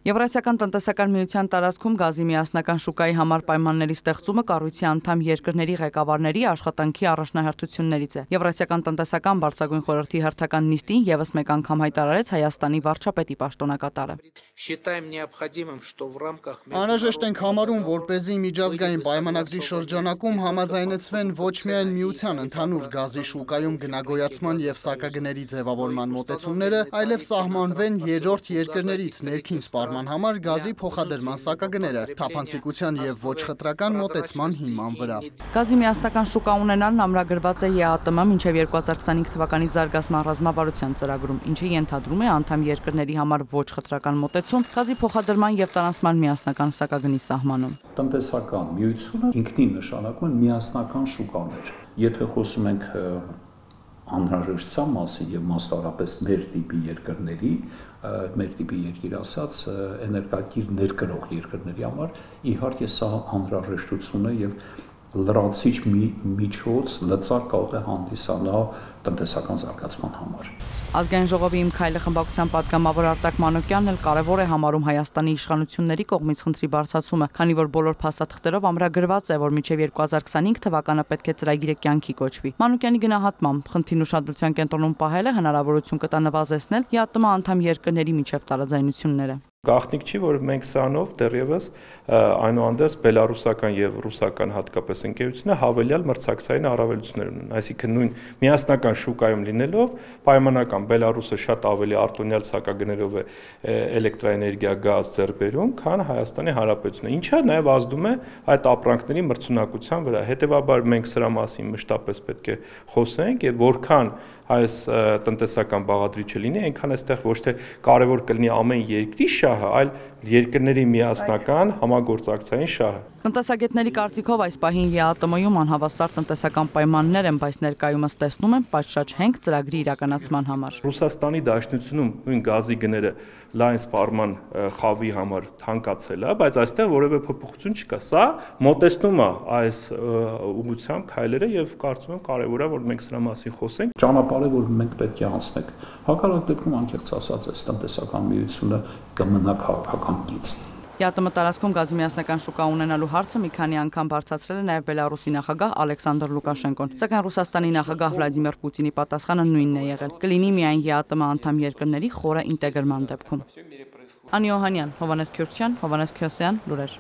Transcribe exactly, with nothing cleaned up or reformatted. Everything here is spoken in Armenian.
Եվրասիական տնտեսական միության տարածքում գազի միասնական շուկայի համար պայմանների ստեղծումը կառույցի անդամ երկրների ղեկավարների աշխատանքի առաջնահերթություններից է։ Եվրասիական տնտեսական բարձրագույն խորհրդի հերթական նիստին ևս մեկ անգամ հայտարարեց Հայաստանի վարչապետի պաշտոնակատարը։ Անհրաժեշտ ենք համարում, որպեսզի միջազգային պայմանագրի շրջանակում համաձայնեցվեն ոչ միայն միության ընդհանուր գազի շուկայում գնագոյացման և սակագների ձևավորման մոտեցումները, այլև սահմանվեն երրորդ երկրներից ներքին սպառման համար գազի փոխադրման սակագները, թափանցիկության և ոչ խտրական մոտեցման հիման վրա։ Գազի միասնական շուկա ունենալն ամրագրված է ԵԱՏՄ մինչև երկու հազար քսանհինգ թվականի զարգացման ռազմավարության ծրագրում, ինչը ենթադրում է անդամ երկրների համար ոչ խտրական մոտեցում, գազի փոխադրման և տարանցման միասնական սակագնի սահմանում։ Տնտեսական միությունը ինքնին նշանակում է միասնական շուկաներ։ Եթե խոսում ենք անհրաժեշտության մասին եւ մասնավորապես մեր տիպի երկրների, մեր տիպի երկիր ասած էներգակիր ներկրող երկրների համար իհարկե սա անհրաժեշտություն է եւ լրացիչ մի միջոց լծակ կարող է հանդիսանալ տնտեսական զարգացման համար։ Ազգային ժողովի Իմ քայլը խմբակցության պատգամավոր Արտակ Մանուկյանն էլ կարևոր է համարում Հայաստանի իշխանությունների կողմից խնդրի բարձրացումը, քանի որ բոլոր փաստաթղթերով ամրագրված է, որ մինչև երկու հազար քսանհինգ թվականը պետք է ծրագիրը կյանքի կոչվի։ Մանուկյանի գնահատմամբ խնդրին ուշադրության կենտրոնում պահելը հնարավորություն կտա նվազեցնել ԵԱՏՄ անդամ երկրների միջև տարաձայնությունները։ Գաղտնիք չի, որ մենք սրանով դեռևս այնուհանդերձ բելարուսական եւ ռուսական հատկապես ընկերությունը հավելյալ մրցակցային առավելություններ ունեն, այսինքն նույն միասնական շուկայում լինելով պայմանական Բելարուսը շատ ավելի արտոնյալ սակագներով է էլեկտրաէներգիա գազ ձեռք բերում, քան Հայաստանի Հանրապետությունը, ինչը նաեւ ազդում է այդ ապրանքների մրցունակության վրա։ Հետևաբար մենք սրա մասին մշտապես պետք է խոսենք եւ որքան այս տնտեսական բաղադրիչը լինի, այնքան այստեղ ոչ թե կարևոր կլինի ամեն երկրի շահը, այլ երկրների միասնական համագործակցային շահը։ Տնտեսագետների կարծիքով այս պահին ԵԱՏՄ-ում անհավասար տնտեսական պայմաններ են, բայց ներկայումս տեսնում են պատշաճ հենք ծրագրի իրականացման համար։ Ռուսաստանի Դաշնությունում նույն գազի գները լայն սպառման խավի համար թանկացել է, բայց այստեղ որևէ փոփոխություն չկա։ Սա մոտեցնում է այս ուղղությամբ քայլերը եւ կարծում եմ կարեւոր է, որ մենք սրա մասին խոսենք։ Ճանապարհը, որ մենք պետք է անցնենք։ Հակառակ դեպքում անկեղծ ասած, այս տնտեսական միությունը կմնա քաղաքական գիծ։ ԵԱՏՄ տարածքում գազի միասնական շուկա ունենալու հարցը մի քանի անգամ բարձրացրել է նաև Բելարուսի նախագահ Ալեքսանդր Լուկաշենկոն, սակայն Ռուսաստանի նախագահ Վլադիմիր Պուտինի պատասխանը նույնն է եղել՝ կլինի միայն ԵԱՏՄ անդամ երկրների խորը ինտեգրման դեպքում։ Անի Օհանյան, Հովհաննես Քյուրքչյան, Հովհաննես Քյոսյան, լուրեր։